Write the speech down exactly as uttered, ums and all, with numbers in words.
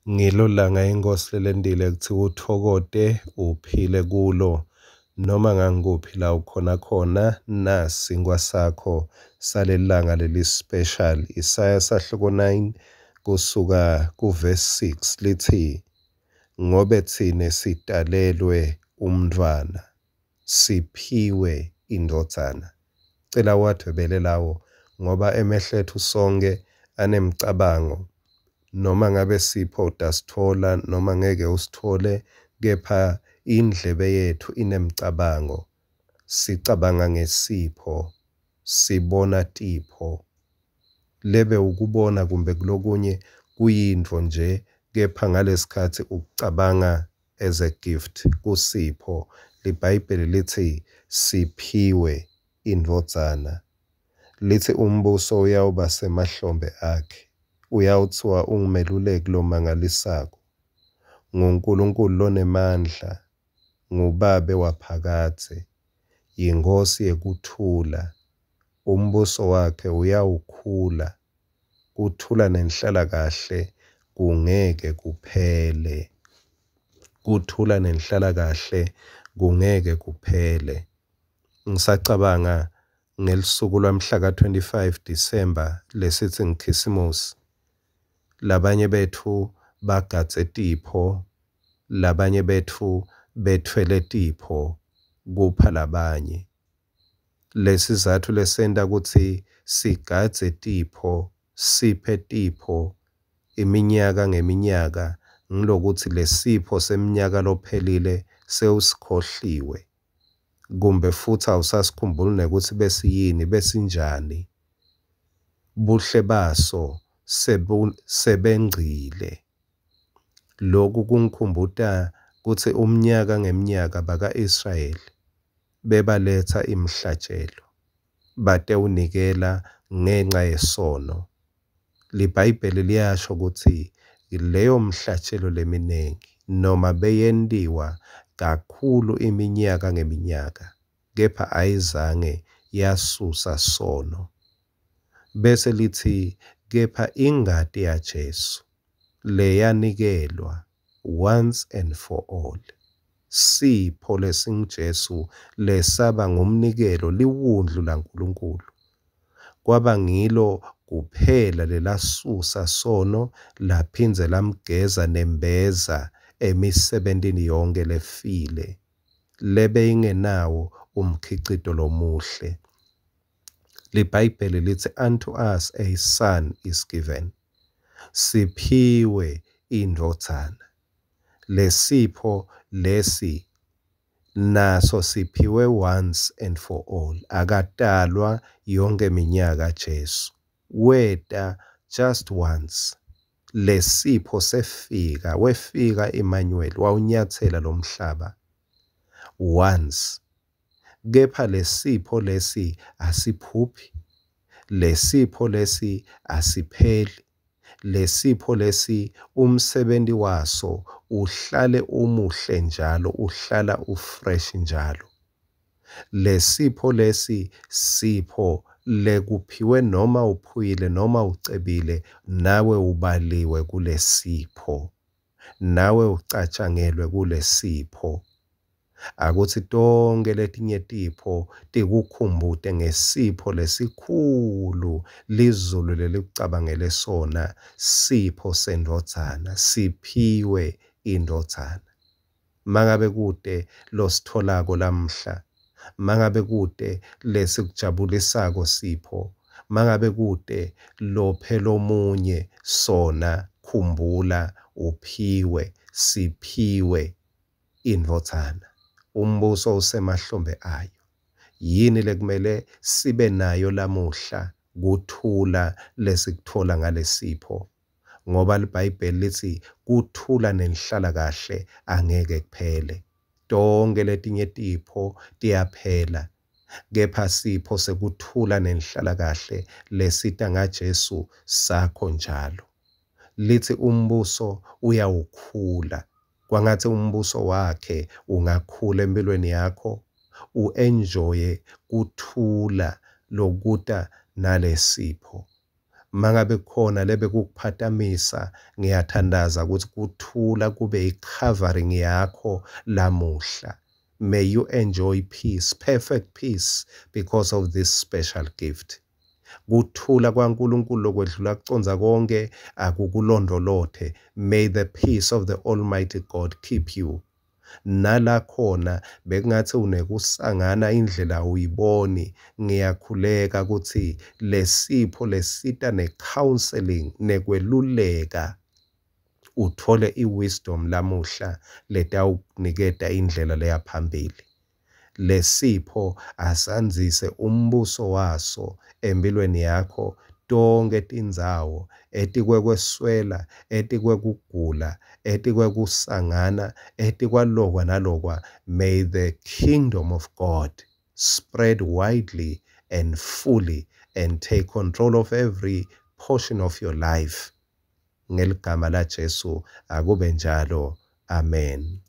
Ngilo langa iNkhosi lelentile kutsi utfokote uphile kulo noma ngangikuphi la ukhona khona nasinkwa sakho salelilanga leli special. Isaya sahluko nine kusuka ku-verse six lithi, ngobe tsine sitalelwe umntfwana, siphiwe indvodzana. Cela uwadvwebele lawo ngoba emehlo etfu sonkhe anemcabango, noma ngabe sipho utasitfola noma ngeke usitfole, kepha indlebe yetfu inemcabango. Sicabanga ngesipho, sibona tipho. Lebe ukubona kumbe kulokunye kuyintfo nje, kepha ngalesikhatsi ukucabanga as a gift, kusipho. LiBhayibheli litsi siphiwe indvodzana. Litsi umbuso uyawuba semahlombe akhe. Uyawutsiwa ungumeluleki lomangalisako, nguNkulunkulu lonemandla, nguBabe waphakadze, yiNkhosi yekuthula. Umbuso wakhe uyawukhula, kuthula nenhlalakahle kungeke kuphele. Kuthula nenhlalakahle kungeke kuphele. Ngisacabanga ngelisuku lwamhla ka-twenty-five December lesithi ngikhisimusi. Labanye betfu bagadze tipho, labanye betfu bethwele tipho kupha labanye. Lesizatfu lesenta kutsi sigadze tipho, siphe tipho iminyaka ngeminyaka ngilokutsi lesipho semnyaka lophelile sewusikhohliwe, kumbe futsi awusasikhumbuli nekutsi besiyini, besinjani. Buhle baso sebengcile. Lokhu kungikhumbuta kutsi umnyaka ngemnyaka baka-Israyeli bebaletsa imihlatjelo batewunikela ngenca yesono. LiBhayibheli liyasho kutsi leyo mhlatjelo leminengi noma beyentiwa kakhulu iminyaka ngeminyaka, kepha ayizange yasusa sono. Bese lithi kepha ingati yaJesu leyanikelwa once and for all, sipho lesinguJesu lesaba ngumnikelo, liwundlu laNkulunkulu, kwaba ngilo kuphela lelasusa sono laphindze lamgeza nembeza emisebentini yonke lefile lebeyingenawo umkhicito lomuhle. LiBhayibheli lithi unto us a son is given, siphiwe indvodzana. Lesipho lesi naso siphiwe once and for all. Akatalwa yonke minyaka Jesu, weta just once. Lesipho sefika, wefika Emmanuel, wawunyatsela lomhlaba once. Kepha lesipho lesi asiphuphi, lesipho lesi asipheli, lesipho lesi umsebenti waso uhlale umuhle njalo, uhlala ufresh njalo. Lesipho lesi sipho lekuphiwe noma uphuyile noma ucebile, nawe ubaliwe kulesipho, nawe ucatshangelwe kulesipho. Akutsi tonke letinye tipho tikukhumbute ngesipho lesikhulu lizulu lelikucabangele sona, sipho sendvodzana, siphiwe indvodzana. Mangabe kute lositholako lamhla, mangabe kute lesikujabulisako sipho, mangabe kute lophe lomunye sona, khumbula uphiwe, siphiwe indvodzana. Umbuso usemahlombe ayo. Yini lekumele sibe nayo lamuhla? Kuthula lesikuthola ngalesipho, ngoba liBhayibheli litsi kuthula nenhlalakahle angeke kuphele. Tonke letinye tipho tiyaphela, kepha sipho sekuthula nenhlalakahle lesita ngaJesu sakho njalo. Lithi umbuso uyawukhula. Kwangatsi umbuso wakhe ungakhula empilweni yakho, u-enjoye kuthula lokuta nalesipho. Mangabe kukhona lebekukuphatamisa, ngiyathandaza ukuthi kuthula kube i-covering yakho lamuhla. May you enjoy peace, perfect peace, because of this special gift. Kuthula kwaNkulunkulu lokwedlula kucondza konke akukulondvolothe. May the peace of the Almighty God keep you. Nala khona bekungathi unekusangana indlela uyiboni, ngiyakhuleka ukuthi lesipho lesita ne-counseling nekweluleka uthole i-wisdom lamuhla letawukuniketa indlela leya phambili. Lesipho asandzise umbuso waso empilweni yakho tonkhe tindzawo, etikwekweswela, etikwekugula, etikwekusangana, etikwalokwa nalokwa. May the kingdom of God spread widely and fully and take control of every portion of your life. Ngeligama laJesu akube njalo. Amen.